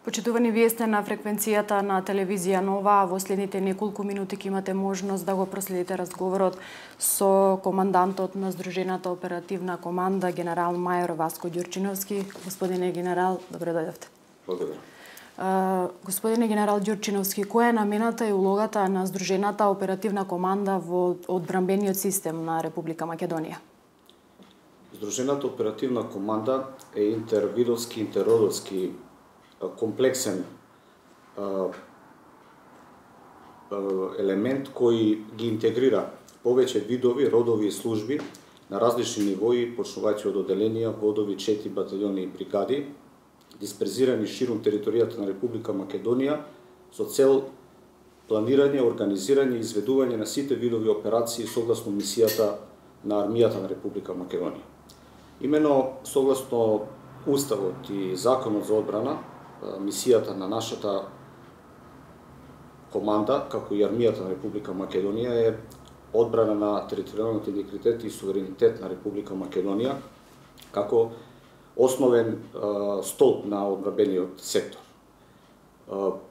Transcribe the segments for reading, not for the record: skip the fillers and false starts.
Почитувани, вие сте на фреквенцијата на телевизија Нова, а во следните неколку минути ќе имате можност да го проследите разговорот со командантот на Здружената оперативна команда, генерал мајор Васко Ѓурчиновски. Господине генерал, добре дојдовте. Благодарам. Господине генерал Ѓурчиновски, која е намената и улогата на Здружената оперативна команда во одбранбениот систем на Република Македонија? Здружената оперативна команда е интервидовски, интерродовски комплексен елемент кој ги интегрира повеќе видови, родови и служби на различни нивои, почнувајќи од оделенија, водови, чети, батальони и бригади, дисперзирани ширум територијата на Република Македонија со цел планирање, организирање и изведување на сите видови операции согласно мисијата на армијата на Република Македонија. Имено согласно Уставот и Законот за одбрана, мисијата на нашата команда, како и армијата на Република Македонија, е одбрана на територијалниот интегритет и суверенитет на Република Македонија, како основен столб на одбранбениот сектор.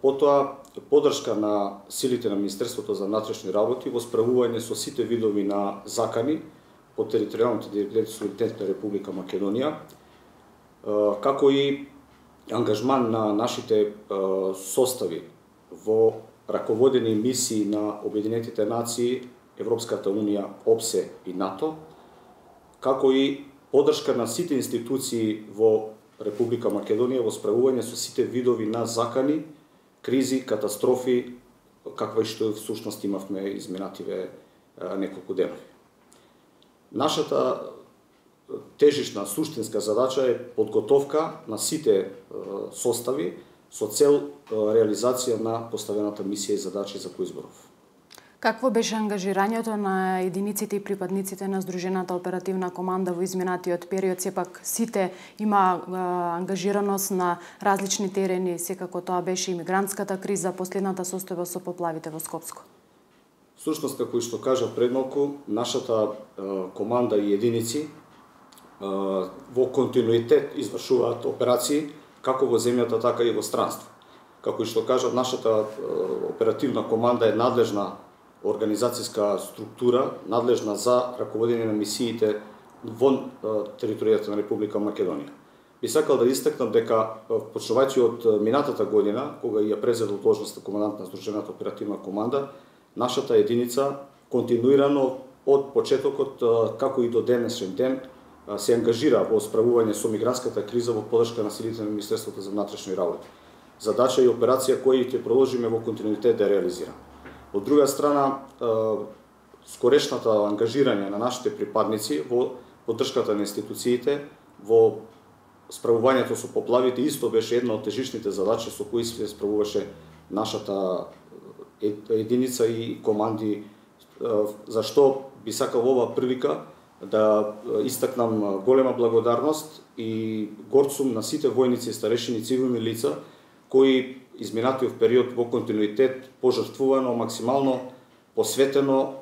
Потоа, подршка на силите на Министерството за внатрешни работи во справување со сите видови на закани по територијалниот интегритет и суверенитет на Република Македонија, како и ангажман на нашите состави во раководени мисии на Обединетите нации, Европската унија, ОПСЕ и НАТО, како и подршка на сите институции во Република Македонија во справување со сите видови на закани, кризи, катастрофи, каква и што всушност имавме изминативе неколку денови. Нашата тежишна, суштинска задача е подготовка на сите состави со цел реализација на поставената мисија и задачи за кои изборов. Какво беше ангажирањето на единиците и припадниците на Здружената оперативна команда во изминатиот период? Сепак сите има ангажираност на различни терени, секако тоа беше имигрантската криза, последната состојба со поплавите во Скопско. Всушност, како и што кажа пред малку, нашата команда и единици во континуитет извршуваат операции како во земјата, така и во странство. Како и што кажа, нашата оперативна команда е надлежна организацијска структура, надлежна за раководење на мисиите вон територијата на Република Македонија. Би сакал да истакнам дека, почнувајќи од минатата година, кога ја презедол должноста командант на Здружената оперативна команда, нашата единица континуирано од почетокот, како и до денешен ден, се ангажира во справување со мигрантската криза во подршка на силите на Министерството за внатрешни работи. Задача и операција која ќе продолжиме во континуитет да реализираме. Од друга страна, скорешната ангажирање на нашите припадници во поддршката на институциите, во справувањето со поплавите, исто беше една од тежишните задачи со кои се справуваше нашата единица и команди, зашто би сакал ова прилика да истакнам голема благодарност и горд сум на сите војници, старешини, цивилни лица кои изминатиот период во континуитет, пожртвувано, максимално посветено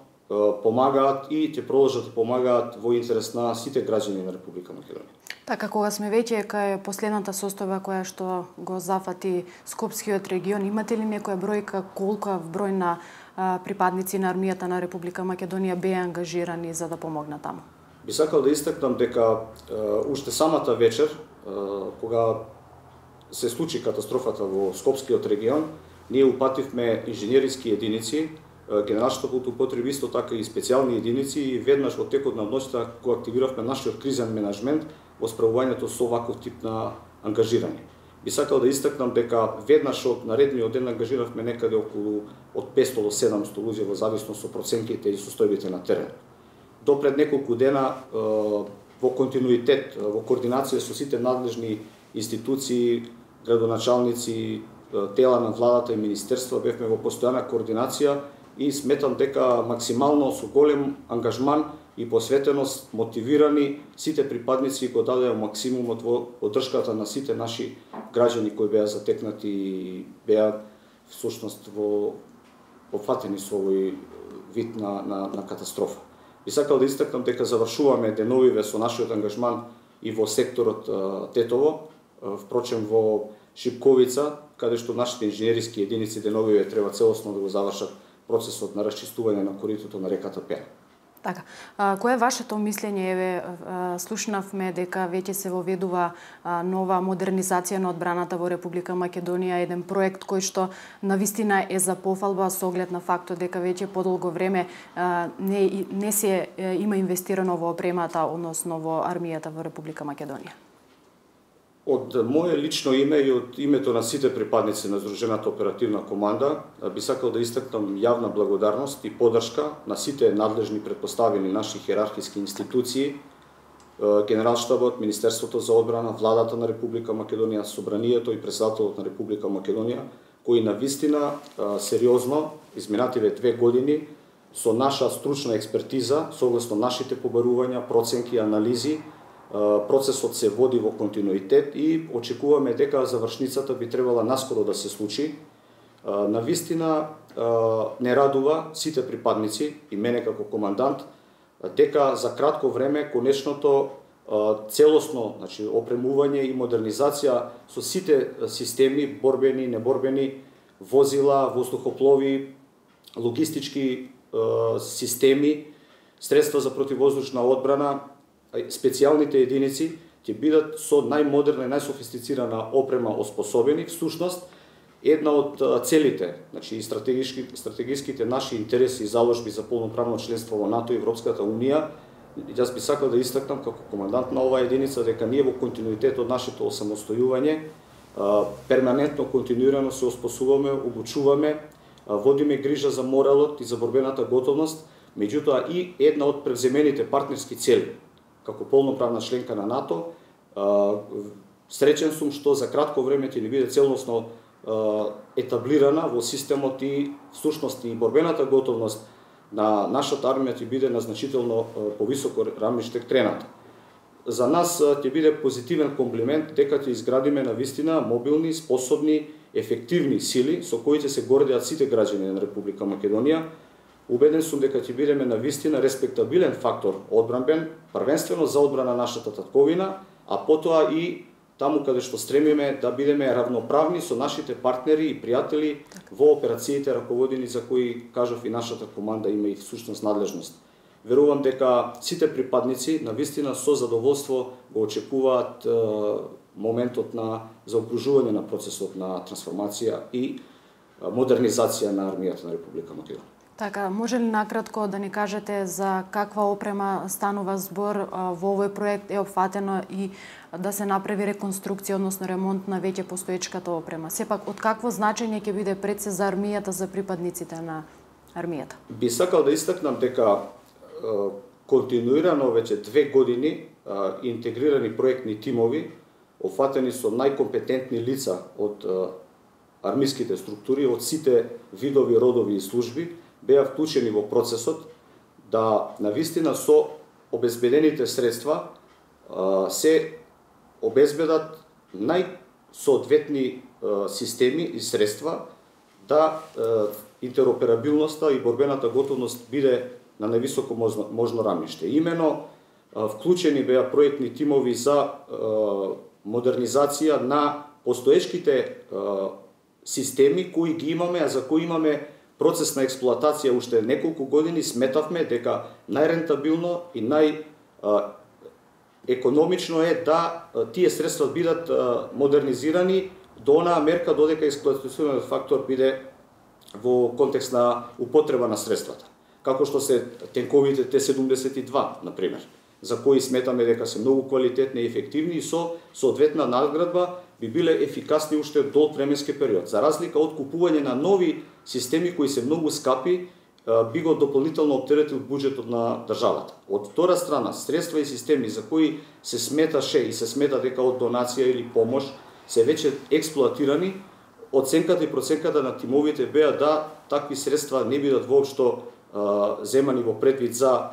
помагаат и ќе продолжат да помагаат во интерес на сите граѓани на Република Македонија. Така, кога сме веќе кај последната состојба која што го зафати Скопскиот регион, имате ли некоја бројка колку број на припадници на армијата на Република Македонија беа ангажирани за да помогнат таму? Би сакал да истакнам дека уште самата вечер, кога се случи катастрофата во Скопскиот регион, ние упативме инженериски единици, Генералштабот употреби исто така и специјални единици и веднаш во текот на ноќта кога активиравме нашиот кризен менеджмент во справувањето со ваков тип на ангажирање. Би сакал да истакнам дека веднаш од наредниот ден ангажиравме некаде околу од 500 до 700 луѓе во зависност со проценките и состојбите на терен. До пред неколку дена во континуитет, во координација со сите надлежни институции, градоначалници, тела на владата и министерства бевме во постојана координација и сметам дека максимално со голем ангажман и посветеност, мотивирани, сите припадници го дадеа максимумот во поддршката на сите наши граѓани кои беа затекнати и беа всушност во опфатени со овој вид на катастрофа. Би сакал да истакнам дека завршуваме деновиве со нашиот ангажман и во секторот Тетово, впрочем во Шипковица, каде што нашите инженериски единици деновиве треба целосно да го завршат процесот на расчистување на коритото на реката Пера. Така, кое е вашето мислење? Еве, слушнавме дека веќе се воведува нова модернизација на одбраната во Република Македонија, еден проект кој што навистина е за пофалба со оглед на фактот дека веќе подолго време не се има инвестирано во опремата, односно во армијата во Република Македонија. Од мое лично име и од името на сите припадници на Здружената оперативна команда би сакал да истакнам јавна благодарност и поддршка на сите надлежни претпоставени наши хиерархиски институции, Генералштабот, Министерството за одбрана, Владата на Република Македонија, Собранието и Претседателот на Република Македонија, кои навистина сериозно изминативе 2 години со наша стручна експертиза, согласно нашите побарувања, проценки, анализи, процесот се води во континуитет и очекуваме дека завршницата би требала наскоро да се случи. Навистина не радува сите припадници и мене како командант дека за кратко време конечното целосно, значи опремување и модернизација со сите системи, борбени, неборбени, возила, воздухоплови, логистички системи, средства за противвоздушна одбрана, специјалните единици ќе бидат со најмодерна и најсофистицирана опрема оспособени. Всушност, една од целите, значи стратегиските наши интереси и заложби за полноправно членство во НАТО и Европската Унија, јас би сакал да истакнам како командант на оваа единица дека ние во континуитет од нашето осамостојување перманентно, континуирано се оспособуваме, обучуваме, водиме грижа за моралот и за борбената готовност, меѓутоа и една од превземените партнерски цели како полноправна членка на НАТО, среќен сум што за кратко време ќе ни биде целосно етаблирана во системот и всушност и борбената готовност на нашата армија ќе биде на значително повисоко рамниште крената. За нас ќе биде позитивен комплимент дека ќе изградиме навистина мобилни, способни, ефективни сили со кои ќе се гордеат сите граѓани на Република Македонија. Убеден сум дека ќе бидеме навистина респектабилен фактор одбранбен, првенствено за одбрана нашата татковина, а потоа и таму каде што стремиме да бидеме равноправни со нашите партнери и пријатели во операциите раководени за кои, кажав, и нашата команда има и всушност надлежност. Верувам дека сите припадници навистина со задоволство го очекуваат моментот на заокружување на процесот на трансформација и модернизација на армијата на Република Македонија. Така, може ли накратко да ни кажете за каква опрема станува збор во овој проект? Е опфатено и да се направи реконструкција, односно ремонт на веќе постоечката опрема. Сепак, од какво значење ќе биде пред се за армијата, за припадниците на армијата? Би сакал да истакнам дека континуирано веќе 2 години интегрирани проектни тимови, опфатени со најкомпетентни лица од армиските структури, од сите видови, родови и служби, беа вклучени во процесот да навистина со обезбедените средства се обезбедат најсоодветни системи и средства да интероперабилноста и борбената готовност биде на највисоко можно рамниште. Имено вклучени беа проектни тимови за модернизација на постоечките системи кои ги имаме, а за кои имаме процес на експлоатација уште неколку години. Сметавме дека најрентабилно и најекономично е да тие средства бидат модернизирани до онаа мерка додека експлоатациониот фактор биде во контекст на употреба на средствата. Како што се тенковите Т-72, например, за кои сметаме дека се многу квалитетни и ефективни и со соодветна надградба би биле ефикасни уште долг временски период. За разлика од купување на нови системи кои се многу скапи, би го дополнително оптеретил буџетот на државата. Од втора страна, средства и системи за кои се сметаше и се смета дека од донација или помош се веќе експлоатирани, оценката и проценката на тимовите беа да такви средства не бидат воопшто земани во предвид за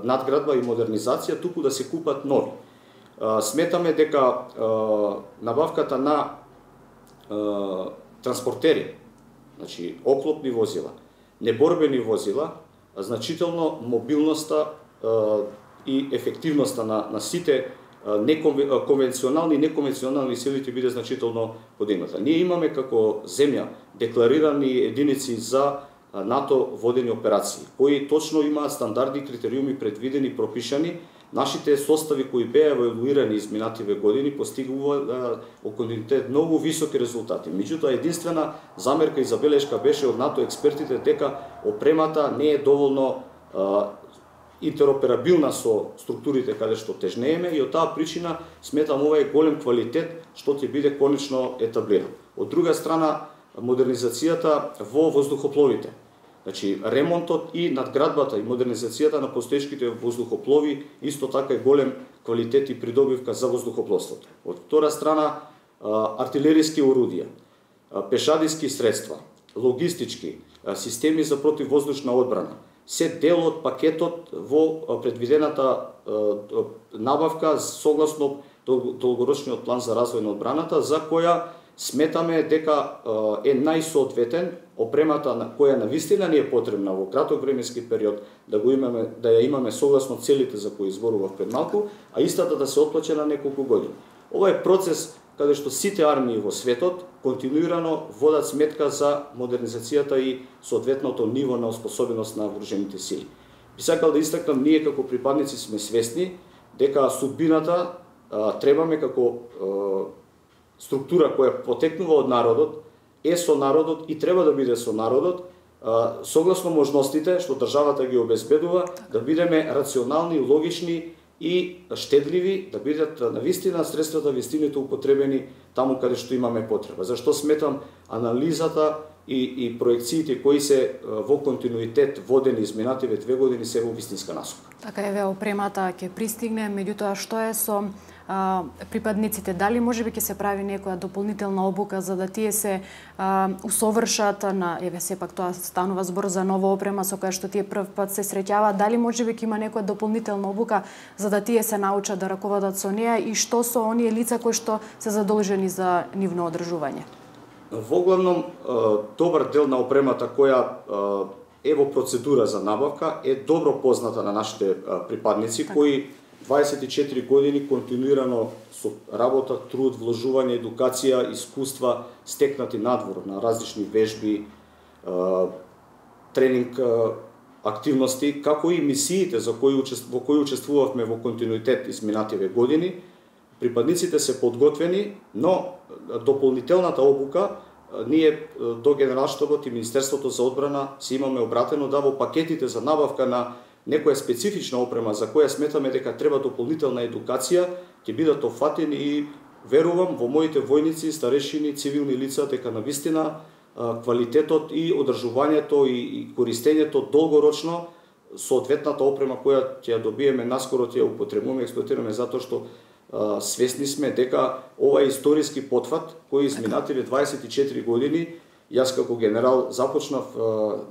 надградба и модернизација, туку да се купат нови. Сметаме дека набавката на транспортери, значи оклопни возила, неборбени возила, значително мобилноста и ефективноста на сите конвенционални и неконвенционални сили ќе биде значително подигната. Ние имаме како земја декларирани единици за НАТО водени операции, кои точно имаат стандарди и критериуми предвидени, пропишани. Нашите состави кои беа евалуирани изминативе години постигуваат во континуитет многу високи резултати. Меѓутоа, единствена замерка и забелешка беше од НАТО експертите дека опремата не е доволно интероперабилна со структурите каде што тежнееме и од таа причина сметам ова е голем квалитет што ќе биде конечно етаблиран. Од друга страна, модернизацијата во воздухопловите. Значи, ремонтот и надградбата и модернизацијата на постоечките воздухоплови исто така е голем квалитет и придобивка за воздухопловството. Од втора страна, артилериски орудија, пешадиски средства, логистички, системи за противвоздушна одбрана, се дел од пакетот во предвидената набавка согласно долгорочниот план за развој на одбраната, за која сметаме дека е најсоодветен опремата на која навистина ни е потребна во краток временски период да ја имаме согласно целите за кои зборував пред малку, а истата да се отплаче на неколку години. Ова е процес каде што сите армии во светот континуирано водат сметка за модернизацијата и соодветното ниво наоспособеност на вооружените сили. Би сакал да истакнам, ние како припадници сме свесни дека судбината требаме како структура која потекнува од народот, е со народот и треба да биде со народот, согласно можностите што државата ги обезбедува, да бидеме рационални, логични и штедливи, да бидат навистина средствата, вистините употребени таму каде што имаме потреба. Зашто сметам анализата и проекциите кои се во континуитет водени изминативе 2 години се во вистинска насока. Така еве опремата ќе пристигне, меѓутоа што е со припадниците? Дали можеби ќе се прави некоја дополнителна обука за да тие се усовршат на, еве сепак тоа станува збор за нова опрема со која што тие прв пат се среќаваат, дали можеби ќе има некоја дополнителна обука за да тие се научат да раководат со неа и што со оние лица кои што се задолжени за нивно одржување? Воглавном, добар дел на опремата која е во процедура за набавка е добро позната на нашите припадници, така, кои 24 години континуирано со работа, труд, вложување, едукација, искуства стекнати надвор на различни вежби, тренинг активности, како и мисиите во кои учествувавме во континуитет изминативе години. Припадниците се подготвени, но дополнителната обука ние до Генералштабот и Министерството за одбрана си имаме обратено да во пакетите за набавка на некоја специфична опрема за која сметаме дека треба дополнителна едукација, ќе бидат офатени и верувам во моите војници, старешини, цивилни лица дека навистина квалитетот и одржувањето и користењето долгорочно соодветната опрема која ќе ја добиеме наскоро ќе ја употребуваме, експлоатираме затоа што свесни сме дека ова е историски потфат кој изминативе 24 години, јас како генерал започнав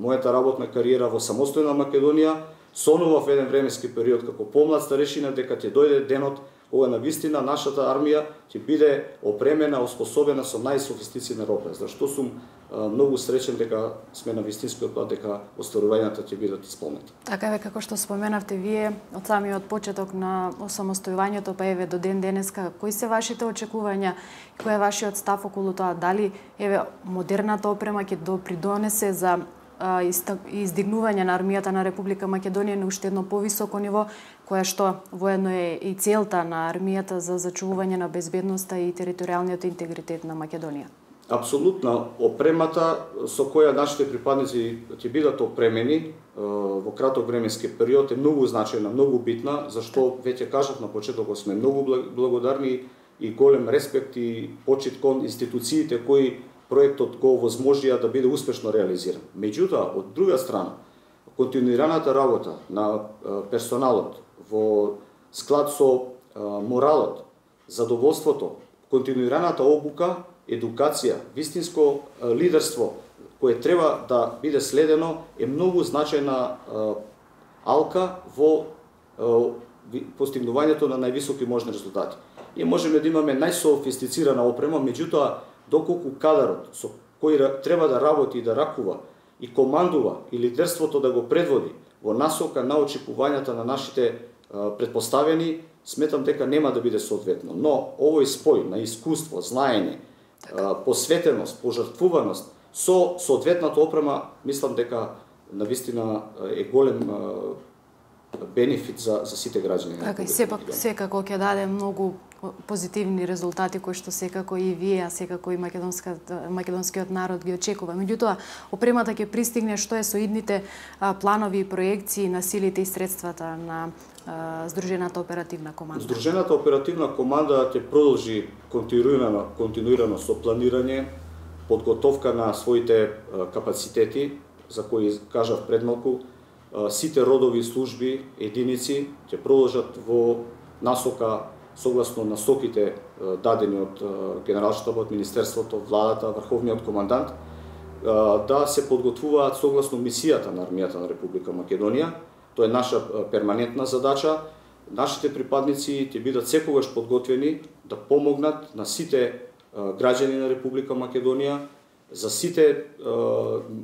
мојата работна кариера во самостојна Македонија, сонував еден временски период како помлад старешина дека ќе дојде денот кога навистина нашата армија ќе биде опремена, оспособена со најсофистицирана оружје. Зашто сум многу среќен дека сме на вистинскиот пат, дека остварувањата ќе бидат исполнети. Така е, како што споменавте вие, од самиот почеток на осамостојувањето па еве до ден денеска, кои се вашите очекувања, кој е вашиот став околу тоа, дали еве модерната опрема ќе допридонесе за издигнување на армијата на Република Македонија на уште едно повисоко ниво, која што воедно е и целта на армијата за зачувување на безбедноста и територијалниот интегритет на Македонија? Апсолутно, опремата со која нашите припадници ќе бидат опремени во краток временски период е многу значајна, многу битна, зашто веќе кажав на почетокот сме многу благодарни и голем респект и почит кон институциите кои проектот го возможија да биде успешно реализиран. Меѓутоа, од друга страна, континуираната работа на персоналот во склад со моралот, задоволството, континуираната обука, едукација, вистинско лидерство кое треба да биде следено е многу значајна алка во постигнувањето на највисоки можни резултати. Ние можеме да имаме најсофистицирана опрема, меѓутоа доколку кадарот со кој треба да работи и да ракува и командува и лидерството да го предводи во насока на очекувањата на нашите предпоставени, сметам дека нема да биде соодветно. Но овој спој на искуство, знаење, посветеност, пожртвуваност со соодветната опрема, мислам дека навистина е голем бенефит за сите граѓани. Така и секако ќе даде многу позитивни резултати кои што секако и вие, а секако и македонскиот народ ги очекува. Меѓутоа, опремата ќе пристигне, што е со идните планови и проекции на силите и средствата на Здружената оперативна команда? Здружената оперативна команда ќе продолжи континуирано со планирање, подготовка на своите капацитети, за кои кажав пред малку. Сите родови служби, единици ќе продолжат во насока согласно насоките дадени од Генералштабот, Министерството, Владата, Врховниот командант, да се подготвуваат согласно мисијата на армијата на Република Македонија. Тоа е наша перманентна задача. Нашите припадници ќе бидат секогаш подготвени да помогнат на сите граѓани на Република Македонија, за сите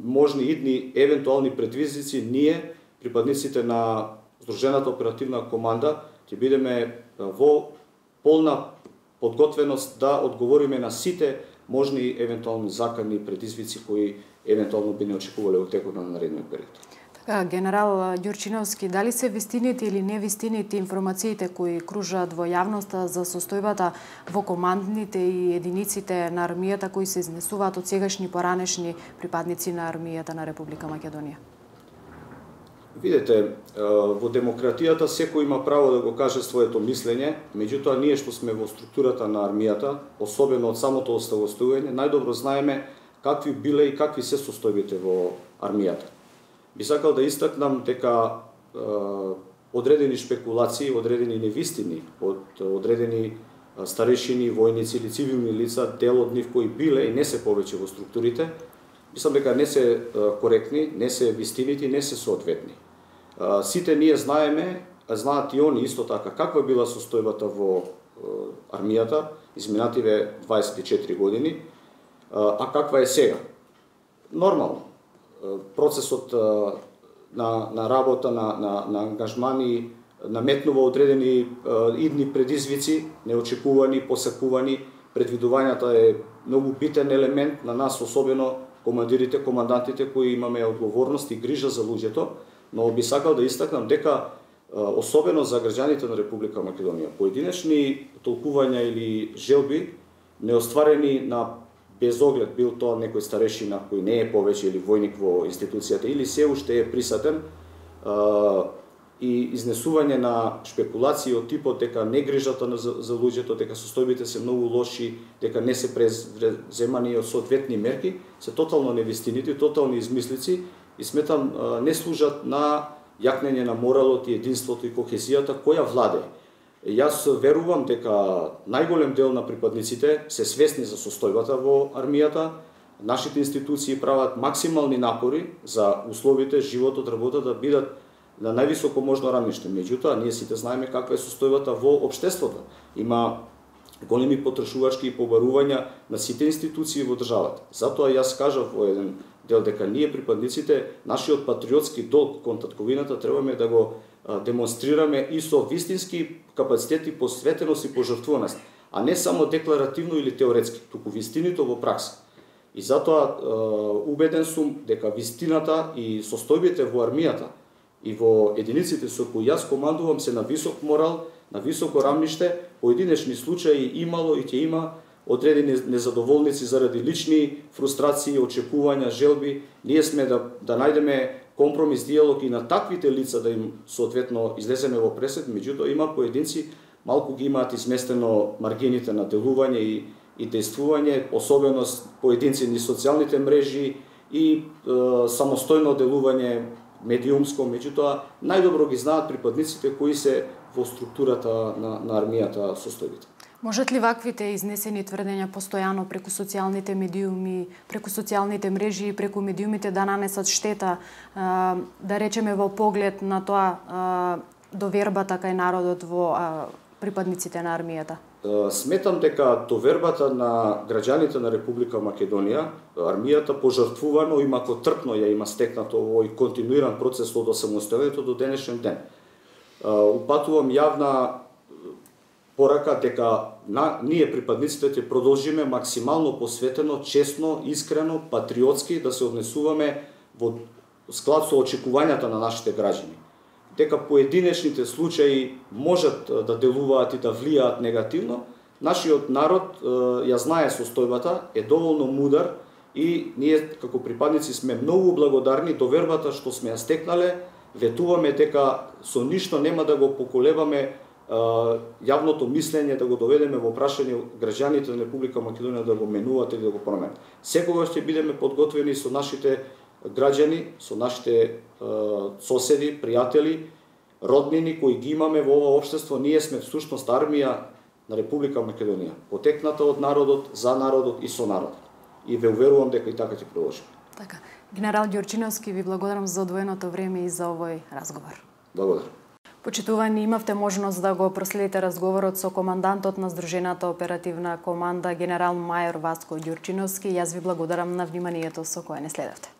можни идни евентуални предизвици. Ние, припадниците на Здружената оперативна команда, ќе бидеме во полна подготвеност да одговориме на сите можни евентуални закани предизвици кои евентуално би не очекувале во текот на наредниот период. Така, генерал Ѓурчиновски, дали се вистините или невистините информациите кои кружат во јавноста за состојбата во командните и единиците на армијата кои се изнесуваат од сегашни поранешни припадници на армијата на Република Македонија? Видете, во демократијата секој има право да го каже своето мислење, меѓутоа ние што сме во структурата на армијата, особено од самото оставостојање, најдобро знаеме какви биле и какви се состојбите во армијата. Би сакал да истакнам дека одредени шпекулации, одредени невистини од одредени старешини, војници или цивилни лица, дел од нив кои биле и не се повеќе во структурите, мислам дека не се коректни, не се вистините, не се соодветни. Сите ние знаеме, знаат и они исто така каква била состојбата во армијата изминативе 24 години, а каква е сега. Нормално. Процесот на работа, на ангажмани, наметнува одредени идни предизвици, неочекувани, посакувани. Предвидувањата е многу битен елемент на нас, особено командирите, командантите кои имаме одговорност и грижа за луѓето, но би сакал да истакнам дека особено за граѓаните на Република Македонија, поединечни толкувања или желби неостварени на без оглед, бил тоа некој старешина кој не е повеќе или војник во институцијата или се уште е присатен, и изнесување на шпекулации од типот дека не грижата за луѓето, дека состојбите се многу лоши, дека не се преземани од соодветни мерки, се тотално невистините, тотални измислици и сметам не служат на јакнење на моралот и единството и кохезијата која владее. Јас верувам дека најголем дел на припадниците се свесни за состојбата во армијата. Нашите институции прават максимални напори за условите, животот, работата да бидат на највисоко можно рамниште. Меѓутоа, ние сите знаеме каква е состојбата во општеството. Има големи потрошувачки и побарувања на сите институции во државата. Затоа јас кажав во еден дел дека ние припадниците, нашиот патриотски долг кон татковината требаме да го демонстрираме и со вистински капацитети, посветеност и пожртвуваност, а не само декларативно или теоретски, туку вистинито во пракса. И затоа убеден сум дека вистината и состојбите во армијата и во единиците со кои јас командувам се на висок морал, на високо рамниште. Поединечни случаи имало и ќе има одредени незадоволници заради лични фрустрации, очекувања, желби. Ние сме да најдеме компромис, диалог и на таквите лица да им соодветно излеземе во пресед, меѓутоа има поединци малку ги имаат изместено маргините на делување и действување, особено поединци низ социјалните мрежи и самостојно делување медиумско, меѓутоа најдобро ги знаат припадниците кои се во структурата на армијата состојбите. Можат ли ваквите изнесени тврдења постојано преку социјалните медиуми, преку социјалните мрежи и преку медиумите да нанесат штета, да речеме во поглед на тоа довербата кај народот во припадниците на армијата? Сметам дека довербата на граѓаните на Република Македонија, армијата пожртвувано и макотрпно ја има стекнато овој континуиран процес од осамостојањето до денешен ден. Упатувам јавна порака дека ние припадниците ќе продолжиме максимално посветено, честно, искрено, патриотски да се однесуваме во склад со очекувањата на нашите граѓани. Дека поединечните случаи можат да делуваат и да влијаат негативно, нашиот народ ја знае состојбата, е доволно мудар и ние како припадници сме многу благодарни довербата што сме ја стекнале, ветуваме дека со ништо нема да го поколебаме јавното мислење, да го доведеме во прашање граѓаните на Република Македонија да го менуваат или да го променат. Секогаш ќе бидеме подготвени со нашите граѓани, со нашите соседи, пријатели, роднини кои ги имаме во ова општество. Ние сме всушност армија на Република Македонија, потекната од народот, за народот и со народот. И ве уверувам дека и така ќе продолжиме. Така. Генерал Ѓурчиновски, ви благодарам за одвоеното време и за овој разговор. Благодарам. Почитувани, имавте можност да го проследите разговорот со командантот на Здружената оперативна команда генерал мајор Васко Ѓурчиновски. Јас ви благодарам на вниманието со кое не следевте.